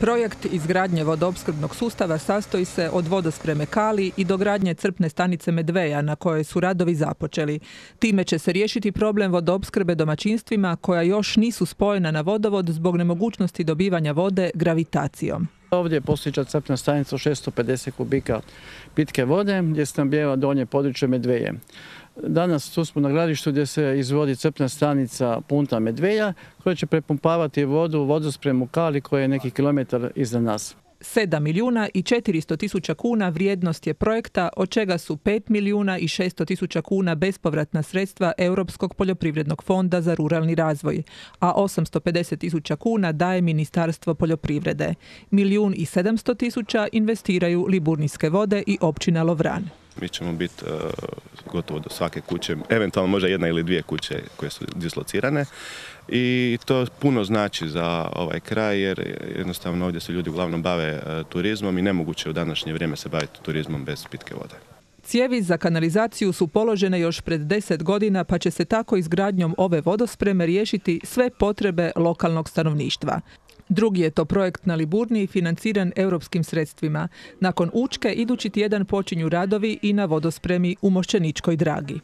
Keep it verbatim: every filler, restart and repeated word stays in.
Projekt izgradnje vodoopskrbnog sustava sastoji se od vodospreme Kali i dogradnje crpne stanice Medveja na kojoj su radovi započeli. Time će se riješiti problem vodoopskrbe domaćinstvima koja još nisu spojena na vodovod zbog nemogućnosti dobivanja vode gravitacijom. Ovdje je postojeća crpna stanica od šesto pedeset kubika pitke vode gdje se snabdijeva donje područje Medveje. Danas tu smo na gradištu gdje se izvodi crpna stanica Punta Medveja koja će prepumpavati vodu u vodospremu Kali koja je neki kilometar iza nas. sedam milijuna i četiristo tisuća kuna vrijednost je projekta, od čega su pet milijuna i šesto tisuća kuna bespovratna sredstva Europskog poljoprivrednog fonda za ruralni razvoj, a osamsto pedeset tisuća kuna daje Ministarstvo poljoprivrede. Milijun i sedamsto tisuća investiraju Liburnijske vode i općina Lovran. Mi ćemo biti uh, gotovo do svake kuće, eventualno možda jedna ili dvije kuće koje su dislocirane i to puno znači za ovaj kraj jer jednostavno ovdje se ljudi uglavnom bave uh, turizmom i nemoguće u današnje vrijeme se baviti turizmom bez pitke vode. Cijevi za kanalizaciju su položene još pred deset godina pa će se tako izgradnjom ove vodospreme riješiti sve potrebe lokalnog stanovništva. Drugi je to projekt na Liburniji financiran europskim sredstvima. Nakon Učke idući tjedan počinju radovi i na vodospremi u Mošćeničkoj Dragi.